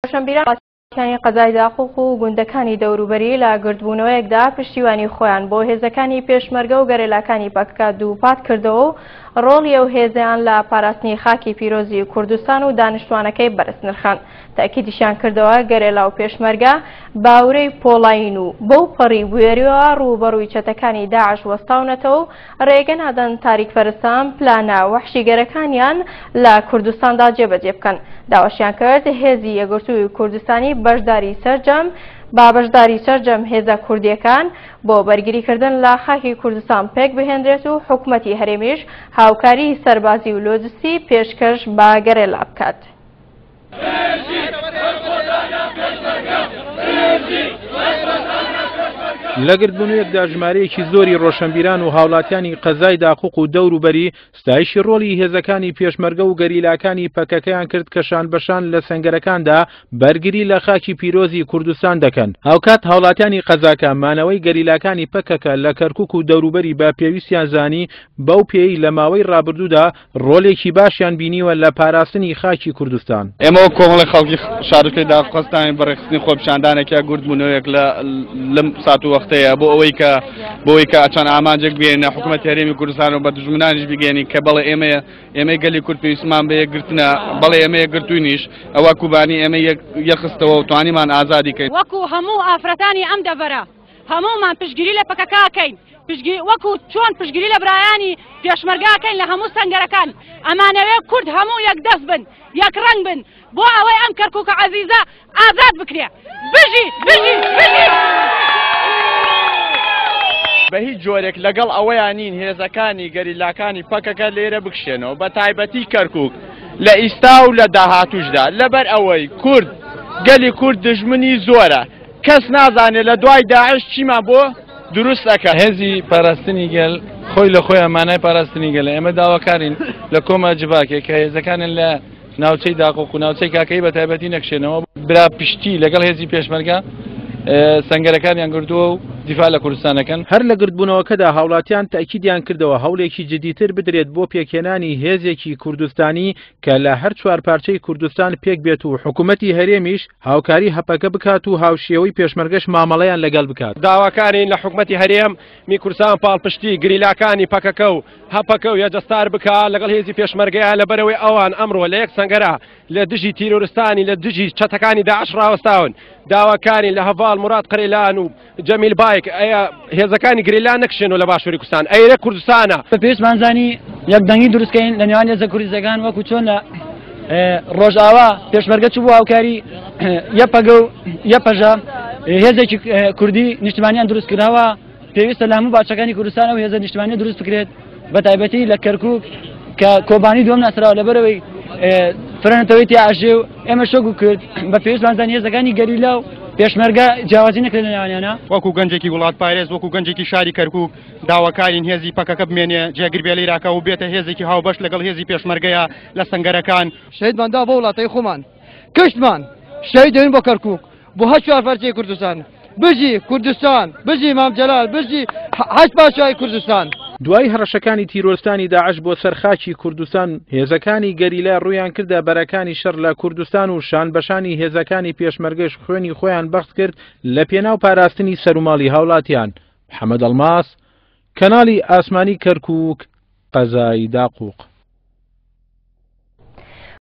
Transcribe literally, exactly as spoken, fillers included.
ڕۆشنبیرانی قەزای داقوق و گوندەکانی دەوروبەری لە گردبوونەوەیەکدا پشتیوانی خۆیان بۆ هێزەکانی پێشمەرگە و گەریلاکانی پەکەکە دووپات کردەوە و ڕۆڵی ئەو هێزەیان لە پاراستنی خاکی پیرۆزی کوردستان و دانیشتوانەکەی بەرز نرخاند. تاکیدیشیان کردەوە گەریلا و پێشمەرگە باورەی پۆڵایین و بەو پەڕی بوێریەوە ڕووبەڕووی چەتەکانی داعش وەستاونەتەوە و ڕێگە نادەن تاریکپەرستان پلانە وەحشیگەرەکانیان لە کوردستاندا جێبەجێ بکەن. داواشیان کرد هێزی یەکگرتووی کوردستانی بەشداری سەرجەم با بەشداری سەرجەم هێزە کوردیەکان بۆ بەرگریکردن لە خاکی کوردستان پێک بهێنرێت و حکومەتی هەرێمیش هاوکاری سەربازی و لۆجستی پێشکەش بە گەریلا بکات. لە گردبوونەوەیەکدا ژمارەیەکی زۆری ڕۆشنبیران و هاوڵاتیانی قەزای داقوق و دەوروبەری ستایشی ڕۆڵی هێزەکانی پێشمەرگە و گەریلاکانی پەکەکەیان کرد کە شان بەشان لە سەنگەرەکاندا بەرگری لە خاکی پیرۆزی کوردستان دەکەن. هاوکات هاوڵاتیانی قەزاکە مانەوەی گەریلاکانی پەکەکە لە کەرکوک و دەوروبەری بە پێویستیان زانی بەو پێی لە ماوەی ڕابردوودا ڕۆلێکی باشیان بینیوە لە پاراستنی خاکی کوردستان. ئێمە وەک کۆمەڵی خەڵکی شارۆچکەی داقوق هەستاین بە ڕێکخستنی خۆپیشاندانێک یا گردبوونەوەیەک لەم سات و وەختەیە بۆ ئەوەی کە بۆ ئەوەی کە چەند ئامانجێک بگەینە حکوومەتی هەرێمی کوردستان و بە دوژمنانیش بگەینین کە بەڵێ ئێمە ئێمەی گەلی کورد پێویستمان بە یەکگرتنە، بەڵێ ئێمە یەکگرتووینیش، ئەوە کوبانی ئێمە یەکخستەوە و توانیمان ئازادی کەین. وەکو هەموو ئافرەتانی ئەم دەڤەرە هەموومان پشتگیری لە پەکەکەکەین، وەکو چۆن پشتگیری لە برایانی پێشمەرگاکەین لە هەموو سەنگەرەکان. ئەمانەوێ کورد هەموو یەکدەست بن، یەک ڕەنگ بن بۆ ئەوەی ئەم کەرکووکە عەزیزە ئازاد بکرێ. بژی بژی بژی. بە هیچ جۆرێک لەگەڵ ئەوەیان نین هێزەکانی گەریلاکانی پەکەکە لێرە بکشێنەوە، بە تایبەتی کەرکوک لە ئیستا و لە داهاتوشدا، لەبەر ئەوەی کورد گەلی کورد دژمنی زۆرە، کەس نازانێت لە دوای داعش چیمان بۆ دروست ئەکات. هێزی پاراستنی گەل خۆی لە خۆیان مانای پاراستنی گەلە. ئێمە داواکارین لە کۆما جڤاکێک کە هێزەکانن لە ناوچەی داقوق و ناوچەی کاکەی بە تایبەتی نەکشێنەوە، برا پشتی لەگەڵ هێزی پێشمەرگە سەنگەرەکانیان گردووە و دیفاع لە کوردستانەکەن. هەر لە گردبوونەوەکەدا هاوڵاتیان تەئکیدیان کردەوە هەوڵێکی جدیتر بدرێت بۆ پێکهێنانی هێزێکی کوردستانی کە لە هەر چوار پارچەی کوردستان پێک بێت و حکوومەتی هەرێمیش هاوکاری هەپەکە بکات و هاوشێوەی پێشمەرگەش مامەڵەیان لەگەڵ بکات. داواکارین لە حکوومەتی هەرێم می کوردستان پاڵپشتی گریلاکانی پەکەکە و هەپەکە و یەجەستار بکا لەگەڵ هێزی پێشمەرگەیە، لەبەرەوەی ئەوان ئەمڕۆ لە یەک سەنگەرە لە دژی تیرۆرستانی لە دژی چەتەکانی داعش ڕاوەستاون. داواکارین لە هەڤاڵ مراد قەرەیلان و جەمیل بایک ئەیا هێزەکانی گریلا نەکشێنەوە لە باشووری کوردستان، ئەیرە کوردستانە. بە پێویستمان زانی یەکدەنگی دروستکەین لە نێوان هێزە کوردیەکان، وەکو چۆن لە ڕۆژئاوا پێشمەرگە چوو بۆ هاوکاری یەپەگە و یەپەژە هێزێکی کوردی نیشتمانیان دروست کردەوە. پێویستە لە هەموو باچەکانی کوردستان ئەو هێزە نیشتمانیە دروست بکرێت، بە تایبەتی لە کەرکوک کە کۆبانی دووەم ناسراوە لەبەرەوەی فرەنەتەوەی تیا ئەژێ و ئێمە شۆک کرد. بە پێویستمان زانی هێزەکانی گەریلا و پێشمەرگە جیاوازی نەکرێت لە نێوانیانە. وەکو گەنجێکی وڵاتپارێز، وەکو گەنجێکی شاری کەرکوک داواکارین هێزی پەکەکە بمێنێ، جێگر بێ لێراکە و بێتە هێزێکی هاوبەش لەگەڵ هێزی پێشمەرگەیە لە سەنگەرەکان. شەهیدمان دا بۆ وڵاتەی خۆمان، کشتمان شەهید دەبین بۆ کەرکوک، بۆ هەر چوار پارچەی کوردستان. بژی کوردستان، بژی مام جەلال، بژی هەشت پاشای کوردستان. دوای هەڕەشەکانی تیرۆرستانی داعش بۆ سەر خاکی کوردستان، هێزەکانی گەریلا ڕوویان کردە بەرەکانی شەڕ لە کوردستان و شان بەشانی هێزەکانی پێشمەرگەش خوێنی خۆیان بەخت کرد لە پێناو پاراستنی سەروماڵی هاوڵاتیان. محەممەد ئەڵماس، کەناڵی ئاسمانی کەرکوک، قەزای داقوق.